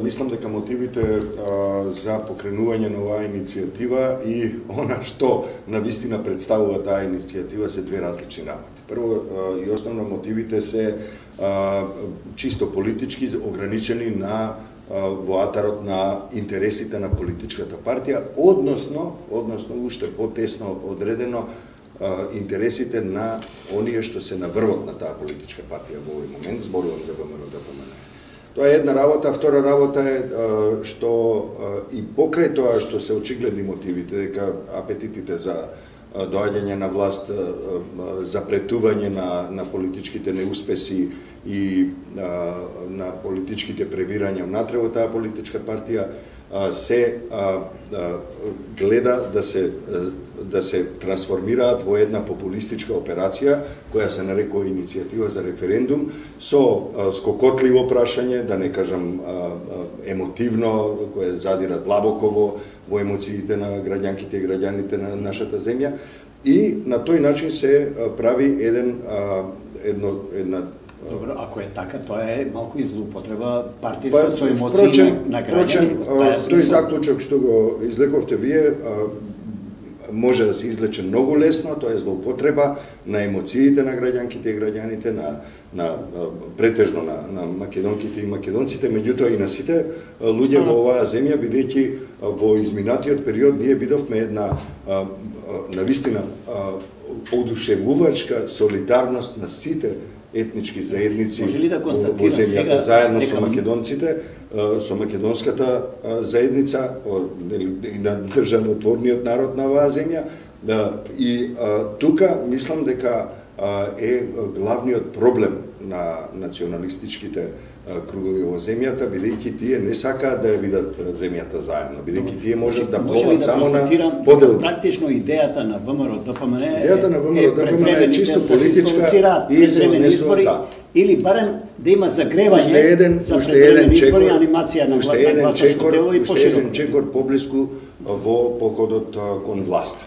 Мислам дека мотивите за покренување на оваа иницијатива и она што навистина представува таа иницијатива се две различни работи. Прво и основно мотивите се чисто политички, ограничени на воатарот на интересите на политичката партија, односно уште потесно одредено интересите на оние што се на врвот на таа политичка партија во овој момент, зборувам за ВМРО-ДПМНЕ. Тоа е една работа, втора работа е што и покрај тоа што се очигледни мотивите, дека апетитите за доаѓање на власт, запретување на политичките неуспеси и на политичките превирања внатре во таа политичка партија се гледа да се трансформираат во една популистичка операција која се нарекува иницијатива за референдум со скокотливо прашање, да не кажам емотивно, кое задира длабоко во емоциите на граѓанките и граѓаните на нашата земја, и на тој начин се прави една Добро, ако е така, тоа е малку и злоупотреба партиска со емоции на граѓани. Тој заклучок што го излековте вие може да се излече многу лесно, тоа е злоупотреба на емоциите на граѓанките и граѓаните, претежно на македонките и македонците, меѓутоа и на сите луѓе во оваа земја, бидејќи во изминатиот период ние видовме една навистина одушевувачка солидарност на сите етнички заедници во земјата, заедно со македонците, со македонската заедница и на државотворниот народ на оваа земја. И тука мислам дека е главниот проблем на националистичките кругови во земјата, бидејќи тие не сакаат да ја видат земјата заедно, бидејќи тие можат да пловат само на поделби. Практично идејата на ВМРО-ДПМНЕ е чисто политичка и се избори, или барем да има загревање за предвремени избори, анимација на гласачко тело и пошироко. Уште еден чекор поблиску во походот кон власта.